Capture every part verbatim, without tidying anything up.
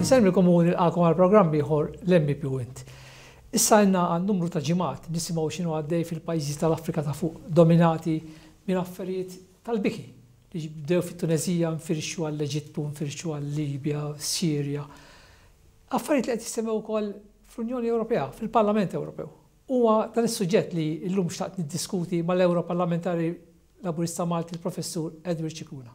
Insellmilkom u nilqagħkom għal programm ieħor l-M E P u Int. Issa għandna għal numru ta' ġimgħat nisimgħu x'inhu għaddej fil-pajjiżi tal-Afrika ta' fuq, dominati minn affarijiet tal-biki li bdew fit-Tunezija, nfirxu għall-Eġittu, nfirxu għall-Libja, Sirja. Affarijiet li qed jissemmew ukoll fl-Unjoni Ewropea, fil-Parlament Ewropew. Huwa dan is-suġġett li llum xtaqt niddiskuti mal-Europarlamentari Laburista Malti, il-Professur Edward Scicluna.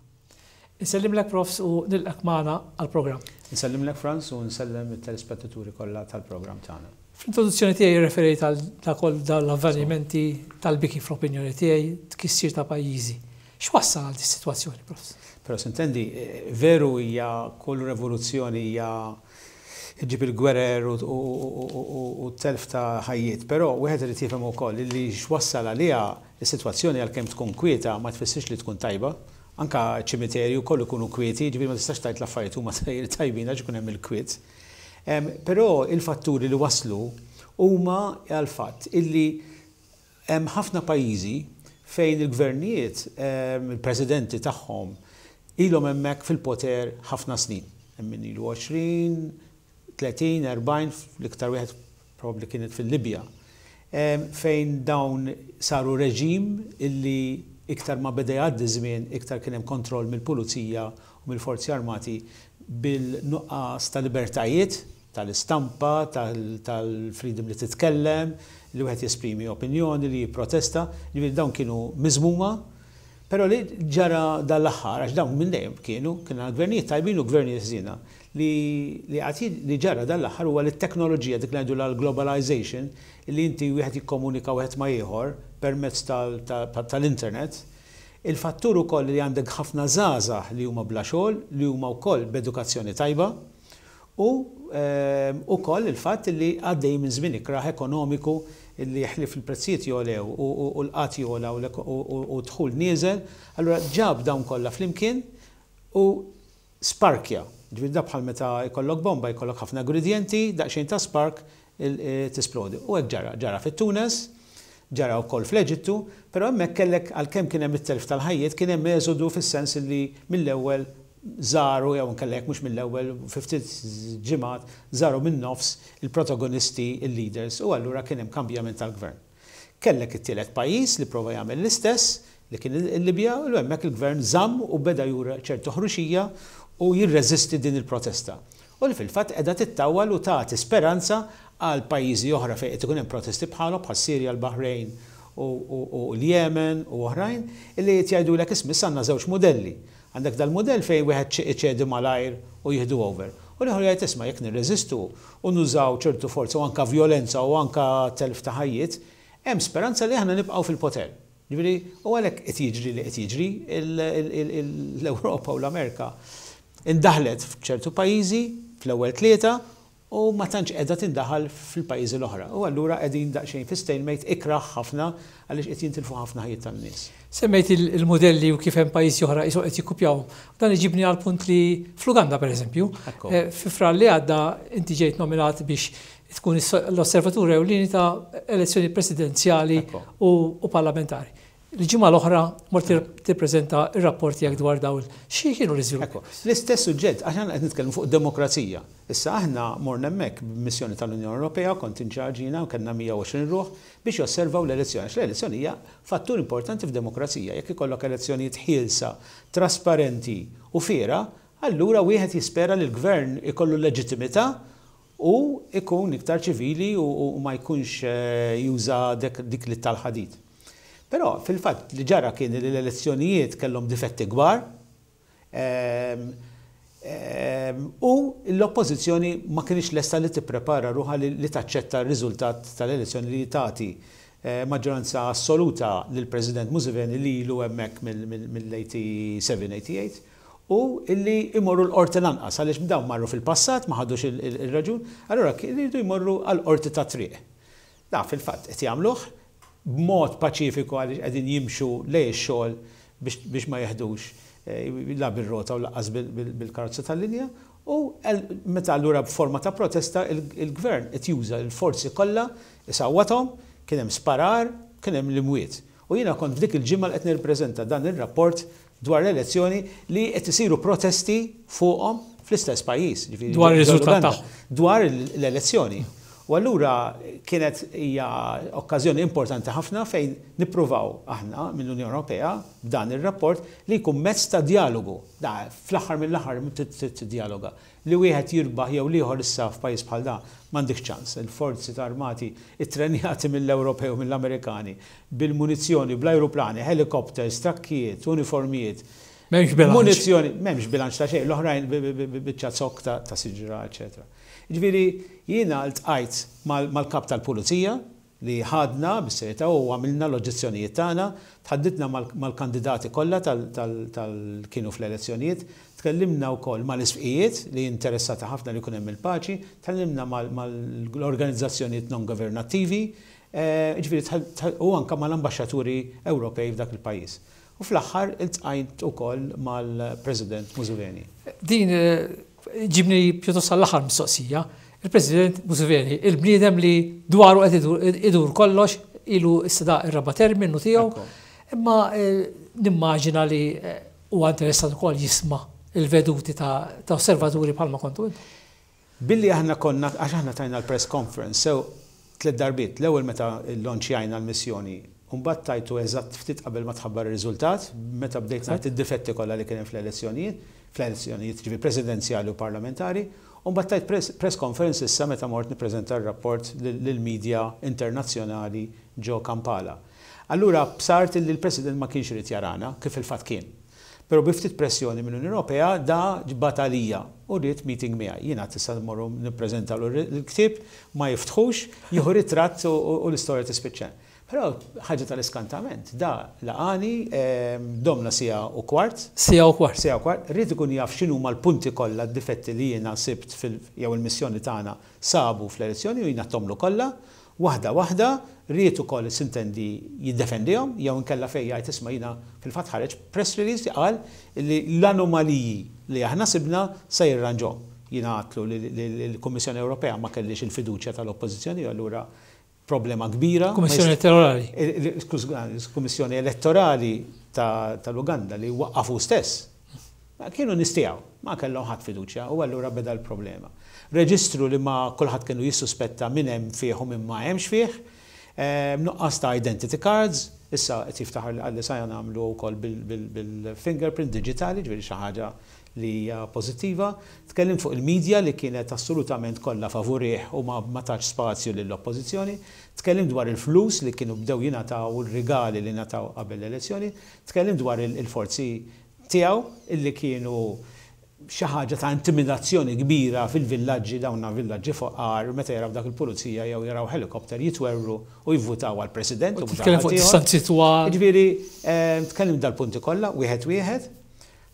Insellimlek, Profs, u nilqgħek magħna għall-programm. Nsellimlek, Franz, u nsellem it-telespettaturi kollha tal-programm tagħna. Fl-introduzzjoni tiegħi referejt għal dakoll dal-avvenimenti tal-biki, fl-opinjoni tiegħi, tkissir ta' pajjiżi. X'wassal għal dis-sitwazzjoni, Profs? Però s'intendi, veru hija kull rivoluzzjoni hija ġib il-gwerer u telf ta' ħajjiet, però wieħed irid jifhem ukoll li x'wassal għaliha is-sitwazzjoni, għalkemm tkun kwieta ma tfissirx li tkun tajba. Anka ċimiterju kollu jkunu kwieti, ġifieri ma tistax tgħid l-affarijiet huma tajbin għax ikun hemm il-kwiet. Però il-fatturi li waslu huma għal-fatt illi hemm ħafna pajjiżi fejn il-gvernijiet, il-presidenti tagħhom ilhom hemmhekk fil-poter ħafna snin. Hemm min ilu għoxrin, tletin, erbgħin, l-iktar wieħed probabbli kienet fil-Libja. Fejn dawn saru reġim illi iktar ma beda jgħaddi żmien, iktar kien hemm kontroll mill-pulizija u mill-forzi armati, bil-nuqqas ta' libertajiet tal-istampa, tal-freedom li titkellem, li wieħed jesprimi opinjoni, li jipprotesta, ġifieri dawn kienu miżmuma, però li ġara dal-aħħar, għax dawn minn dejjem kienu, kienu gvernijiet tajbin u gvernijiet ħżiena, li li ġara dal-aħħar huwa li t-teknoloġija, dik li ngħidu l-globalization, li inti wieħed jikkomunika wieħed ma' ieħor permezz tal-internet, il-fattur ukoll li għandek ħafna żgħażagħ li huma bla xogħol, li huma wkoll b'edukazzjoni tajba, u ehm, ukoll il-fatt li għaddej minn żmien ikrah ekonomiku li ħlief il-prezzijiet jogħlew u l-qgħad jogħla u dħul nieżel, allura ġab dawn kollha flimkien u sparkja. Ġifieri da bħal meta jkollok bomba, jkollok ħafna ingredienti, daqsxejn ta' spark e, tisplodi. U hekk ġara, ġara fit-Tunes, ġara wkoll fl-Eġittu, però hemmhekk kellek, għalkemm kien hemm it-telf tal-ħajjiet, kien hemm eżodu fis-sens li mill-ewwel żaru, jew nkellek mhux mill-ewwel, fi ftit ġimgħat żaru minn nofs il-protagonisti, il-leaders, u allura kien hemm kambjament tal-gvern. Kellek it-tielet pajjiż li prova jagħmel l-istess, li kien il-Libja, u hemmhekk il-gvern żamm u beda jura ċertu ħruxija u jirreżisti din il-protesta. U li fil-fatt qiegħda tittawwal u tagħti speranza għal pajjiżi oħra fejn qed ikun hemm protesti bħalhom, bħal Sirja, l-Bahrejn u l-Jemen u oħrajn, illi qed jgħidulek, isma', għandna żewġ modelli. Għandek dal-modell fejn wieħed iċedi malajr u jieħdu over. U l-ieħor jgħid, isma', jekk nirreżistu u nużaw ċertu forza u anka violenza u anka telf ta' ħajjiet, hemm speranza li aħna nibqgħu fil-poter. Ġifieri, u għalhekk qed jiġri li qed jiġri. L-Ewropa u l-Amerika indaħlet f'ċertu pajjiżi fl-ewwel tlieta u ma tantx qiegħda tindaħal fil-pajjiżi l-oħra. U allura qegħdin daqsxejn fi stalemate ikrah ħafna għaliex qed jintilfu ħafna ħajjiet tan-nies. Semmejt il-modelli u kif hemm pajjiżi oħra qisu qed jikkupjaw. Dan iġibni għal punt li fl-Uganda, pereżempju, eh, fi Frar li għadda inti ġejt nominat biex tkun l-osservatur ewlieni ta' elezzjoni presidenzjali u parlamentari. Il-ġimgħa l-oħra mort tippreżenta r-rapport tiegħek dwar dawn. Xi kienu l-iżviluppi? L-istess suġġett, għax aħna qed nitkellmu fuq demokrazija. Issa aħna morna hemmhekk b'missjoni tal-Unjoni Ewropea, kont in charge jiena, u kellna mija u għoxrin ruħ biex josservaw l-elezzjoni. Għax l-elezzjoni hija fattur importanti f'demokrazija. Jekk ikollok elezzjonijiet ħielsa, trasparenti u fiera, allura wieħed jispera li l-gvern ikollu leġittimità u ikun iktar ċivili u ma jkunx eh, juża dik li tal-ħadid. Però fil-fatt li ġara kien li l-elezzjonijiet kellhom difetti kbar ehm, ehm, u l-oppożizzjoni ma kienx lesta li tipprepara ruħha li taċċetta r-riżultat tal-elezzjoni li tagħti eh, maġġoranza assoluta lill-President Museveni, li ilu hemmhekk mill-tmienja u sebgħin u illi imorru l-qorti lanqas, għaliex dawn marru fil-passat, ma ħadux il-raġun, allura jridu jmorru għall-qorti ta' triq. Da fil-fatt qed jagħmluh b'mod paċifiku għaliex qegħdin jimxu lejn ix-xogħol biex ma jeħdux eh, la bil-rota u lanqas bil-karozza tal-linja, u meta allura b'forma ta' protesta il-gvern qed juża l-forzi kollha, isawwathom, kien hemm sparar, kien hemm l-imwiet. U jiena kont f'dik il-ġimgħa li qed nirrepreżenta dan ir-rapport dwar l-elezzjoni li qed isiru protesti fuqhom. fl-istess pajjiż. Dwar ir-riżultat tagħhom. Dwar l-elezzjoni. U allura kienet hija okkażjoni importanti ħafna fejn nippruvaw aħna mill-Unjoni Ewropea dan ir-rapport li jkun mezz ta' dialogu. Da fl-aħħar mill-aħħar tiddialoga. Li wieħed jirbaħ jew l-ieħor issa f'pajjiż bħal da m'għandekx ċans. Il-forzi ta' armati ittrenjati mill-Ewropew u mill-Amerikani bil-munizzjoni, bl-ajruplani, helikopters, trakkijiet, uniformijiet. M'hemmx bilanċ. Munizzjoni, m'hemmx bilanċ ta' xejn, l-oħrajn biċċa zokk ta' siġra, eċetera. Ġifieri jiena ltqajt mal-kap tal-pulizija li ħadna bis-serjetà u għamilna l-oġġezzjonijiet tagħna, tħadditna mal-kandidati kollha tal kienu fl-elezzjonijiet, tkellimna wkoll mal-isqfijiet li interessati ħafna li jkun hemm il-paċi, tkellimna mal-organizzazzjonijiet non governattivi, ġifieri u anke mal-ambaxxaturi Ewropej f'dak il-pajjiż. U fl-aħħar iltqajt ukoll mal-President Museveni. Din ġibni pjuttost għall-aħħar mistoqsija. Il-President Museveni, il-bniedem li dwaru qed idur kollox, ilu issa da ir-raba' terminu tiegħu, imma nimmaġina li huwa interessat ukoll jisma' il-veduti ta' osservaturi bħalma kontu intom. Billi aħna konna, għax aħna tajna l-press conference, sew tliet darbiet, l-ewwel meta llonċjajna l-missjoni, mbagħad tajtu eżatt ftit qabel ma tħabbar ir-riżultat, meta bdejt ngħid id-difetti kollha li kien hemm fl-elezzjonijiet, fl-elezzjonijiet ġifieri presidenzjali u parlamentari, u mbagħad tajt press, press conference issa meta mort nippreżenta r-rapport lill-medja internazzjonali ġo Kampala. Allura bsart li l-President ma kienx irid jarana, kif il-fatt kien. Però bi ftit pressjoni mill-Unjoni Ewropea da bagħat għalija u ried meeting miegħi. Jiena tista' mmorru nippreżentalu l-ktieb, ma jiftħux, jieħu ritratt u l-istorja tispiċċa. Però ħaġa tal-iskantament, da laqani domna siegħa u kwart. Siegħa u kwart. Siegħa u kwart. Ried ikun jaf x'inhuma l-punti kollha d-difetti li jiena sibt fil jew il-missjoni tagħna sabu fl-elezzjoni u jiena tomlu kollha. Waħda waħda, ried ukoll sintendi jiddefendihom jew inkella fejn jgħid isma' jiena fil-fatt ħareġ press release li qal li l-anomaliji li aħna sibna se jirranġhom. Jiena għatlu li l-Kummissjoni Ewropea ma kellix il-fiduċja tal-Oppożizzjoni, allura problema kbira. Kummissjoni Elettorali. Kummissjoni Elettorali tal-Uganda li waqqafu stess. Kienu nistijaw, ma kellhom ħadd fiduċja u allura beda l-problema. Reġistru li ma kulħadd kienu jissuspetta min hemm fih u min ma hemmx fih, nuqqas ta' identity cards, issa qed jiftaħar li qalli sa nagħmlu wkoll bil-fingerprint digitali, ġifieri xi ħaġa li hija pożittiva. Tkellim fuq il-medja li kienet assolutament kollha favurih u ma tatx spazju lill-oppożizzjoni. Tkellim dwar il-flus li kienu bdew jingħataw u r-rigali li ngħataw qabel l-elezzjoni. Tkellim dwar il-forzi tiegħu illi kienu xi ħaġa ta' intimidazzjoni kbira fil-villaġġi, dawna villaġġi foqar, meta jaraw dak il-pulizija jew jaraw helikopter jitwerru u jivvutaw għall-President. U titkellem fuq distanzi twal. Ġifieri, tkellem dal-punti kollha, wieħed wieħed.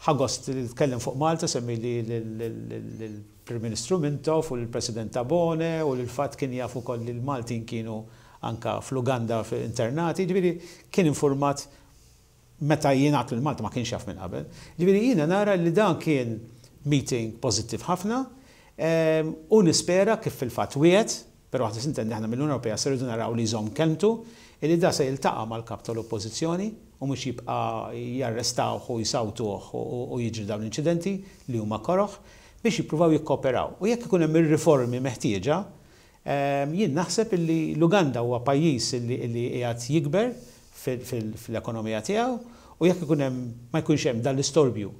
Ħagost li tkellem fuq Malta, semmi li l-Prim Ministru Mintoff u l-President Tabone u l-fatt kien jaf ukoll li l-Maltin kienu anka fl-Uganda internati, ġifieri kien informat meta jien għatlu l-Malta ma kienx jaf minn qabel. Ġifieri jiena nara li dan kien meeting pożittiv ħafna u nispera kif fil-fatt wiegħed, però aħna sintendi aħna mill-Unjoni Ewropea se rridu naraw li jżomm kelmtu, illi da se jiltaqa' mal-kap tal-Oppożizzjoni u mhux jibqa' jarrestawh u jsawtuh u jiġri dawn l-inċidenti li huma koroħ biex jippruvaw jikkooperaw. U jekk ikun hemm ir-riformi meħtieġa, jien naħseb illi l-Uganda huwa pajjiż illi qiegħed jikber fil-ekonomija tiegħu u jekk ikun hemm ma jkunx hemm dan l-istorbju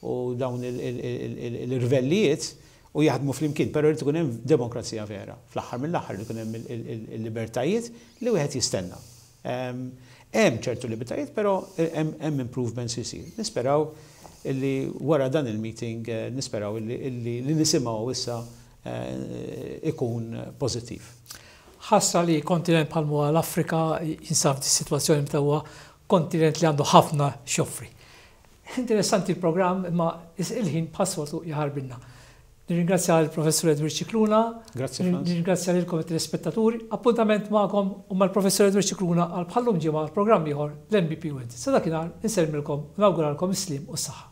u dawn l-irvellijiet u jaħdmu flimkien, però jrid ikun hemm demokrazija vera. Fl-aħħar mill-aħħar jrid ikun hemm il-libertajiet li wieħed jistenna. Hemm ċertu libertajiet, però hemm improvements isir. Nisperaw illi wara dan il-meeting, nisperaw illi li nisimgħu issa ikun pożittiv. Ħasra li kontinent bħal huwa l-Afrika jinsab f'di sitwazzjoni meta huwa kontinent li għandu ħafna x'joffri. Interessanti l-programm, imma il-ħin bħas-soltu jaħarbilna. Nirringrazzja l-Professur Edward Scicluna. Grazie, Frans. Nirringrazzja lilkom it-telespettaturi. Appuntament magħkom u mal-Professur Edward Scicluna għal bħallum ġimgħa għal programm ieħor l-M B P Went. Sa dakinhar insellmilkom u nawguralkom is-sliem u s-saħħa.